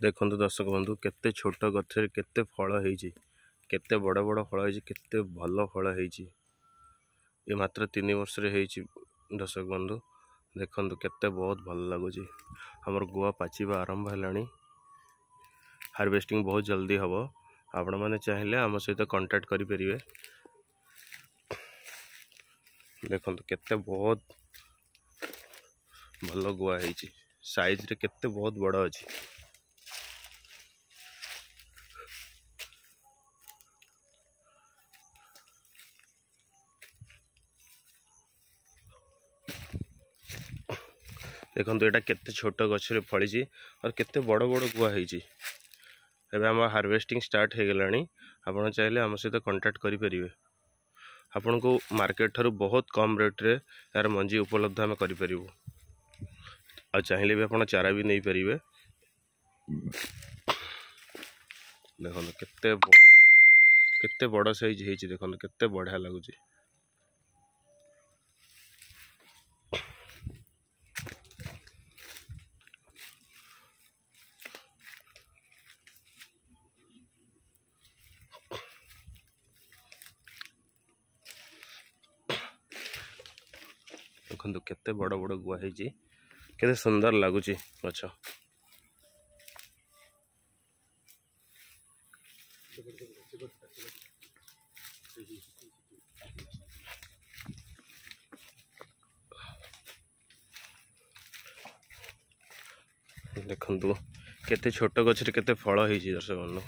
ଦେଖନ୍ତୁ ଦର୍ଶକ ବନ୍ଧୁ, କେତେ ଛୋଟ ଗଛରେ କେତେ ଫଳ ହେଇଛି, କେତେ ବଡ଼ ବଡ଼ ଫଳ ହେଇଛି, କେତେ ଭଲ ଫଳ ହେଇଛି। ଏ ମାତ୍ର 3 ବର୍ଷରେ ହେଇଛି ଦର୍ଶକ ବନ୍ଧୁ। ଦେଖନ୍ତୁ କେତେ ବହୁତ ଭଲ ଲାଗୁଛି। ଆମର ଗୁଆ ପାଚିବା ଆରମ୍ଭ ହେଲାଣି, ହାରଭେଷ୍ଟିଂ ବହୁତ ଜଲ୍ଦି ହେବ। ଆପଣମାନେ ଚାହିଁଲେ ଆମ ସହିତ କଣ୍ଟାକ୍ଟ କରିପାରିବେ। ଦେଖନ୍ତୁ କେତେ ବହୁତ ଭଲ ଗୁଆ ହେଇଛି, ସାଇଜ୍ରେ କେତେ ବହୁତ ବଡ଼ ଅଛି। ଦେଖନ୍ତୁ ଏଇଟା କେତେ ଛୋଟ ଗଛରେ ଫଳିଛି ଆଉ କେତେ ବଡ଼ ବଡ଼ ଗୁଆ ହେଇଛି। ଏବେ ଆମ ହାରଭେଷ୍ଟିଂ ଷ୍ଟାର୍ଟ ହେଇଗଲାଣି। ଆପଣ ଚାହିଁଲେ ଆମ ସହିତ କଣ୍ଟାକ୍ଟ କରିପାରିବେ। ଆପଣଙ୍କୁ ମାର୍କେଟ ଠାରୁ ବହୁତ କମ୍ ରେଟ୍ରେ ଏହାର ମଞ୍ଜି ଉପଲବ୍ଧ ଆମେ କରିପାରିବୁ। ଆଉ ଚାହିଁଲେ ବି ଆପଣ ଚାରା ବି ନେଇପାରିବେ। ଦେଖନ୍ତୁ କେତେ ବଡ଼ ସାଇଜ୍ ହେଇଛି, ଦେଖନ୍ତୁ କେତେ ବଢ଼ିଆ ଲାଗୁଛି। ଦେଖନ୍ତୁ କେତେ ବଡ଼ ବଡ଼ ଗୁଆ ହେଇଛି, କେତେ ସୁନ୍ଦର ଲାଗୁଛି ଗଛ। ଦେଖନ୍ତୁ କେତେ ଛୋଟ ଗଛରେ କେତେ ଫଳ ହେଇଛି ଦର୍ଶକ ବନ୍ଧୁ।